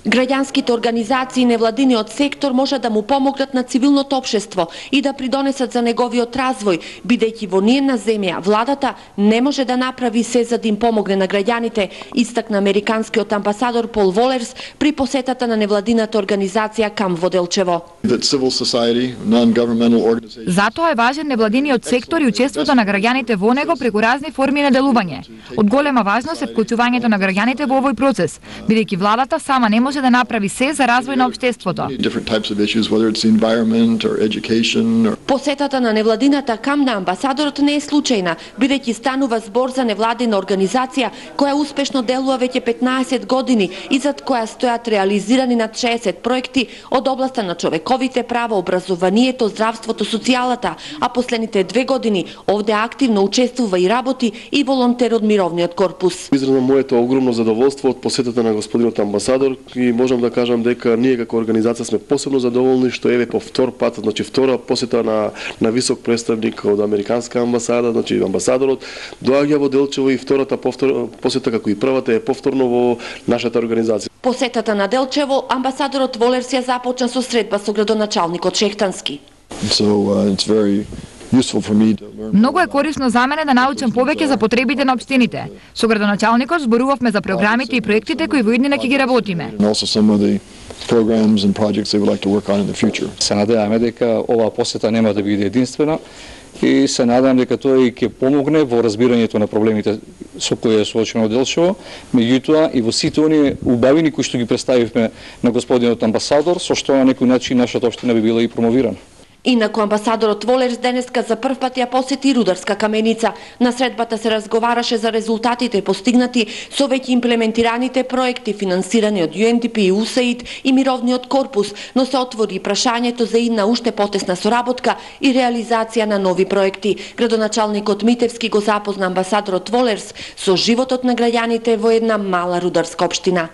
Граѓанските организации и невладиниот сектор може да му помогнат на цивилното општество и да придонесат за неговиот развој, бидејќи во ниедна земја владата не може да направи се за да им помогне на граѓаните, истакна американскиот амбасадор Пол Волерс при посетата на невладината организација КАМ во Делчево. Затоа е важен невладиниот сектор и учеството на граѓаните во него преку разни форми на делување. Од голема важност е вклучувањето на граѓаните во овој процес, бидејќи владата сама не може да направи се за развој на општеството. Посетата на невладината КАМ на амбасадорот не е случајна, бидејќи станува збор за невладина организација која успешно делува веќе 15 години и зад која стојат реализирани над 60 проекти од областа на човековите права, образованието, здравството, социјалата, а последните 2 години овде активно учествува и работи и волонтер од мировниот корпус. Изразно моето огромно задоволство од посетата на господинот амбасадор и можам да кажам дека ние како организација сме посебно задоволни што еве по втор пат, значи втора посета на висок представник од американска амбасада, значи амбасадорот доаѓа во Делчево и втората посета како и првата е повторно во нашата организација. Посетата на Делчево амбасадорот Волерс ја започна со средба со градоначалникот Шехтански. Многу е корисно за мене да научам повеќе за потребите на општините. Со градоначалникот зборувавме за програмите и проектите кои во иднина ќе ги работиме. Се надеваме дека оваа посета нема да биде единствена и се надевам дека тоа и ќе помогне во разбирањето на проблемите со кои е соочено Делчево, меѓутоа и во сите оние убавини кои што ги представивме на господинот амбасадор, со што на некој начин нашата општина би била и промовирана. Инаку амбасадорот Волерс денеска за прв пат ја посети Рударска каменица. На средбата се разговараше за резултатите постигнати со веќе имплементираните проекти финансирани од UNDP и USAID и мировниот корпус, но се отвори прашањето за идна уште потесна соработка и реализација на нови проекти. Градоначалникот Митевски го запозна амбасадорот Волерс со животот на граѓаните во една мала рударска општина.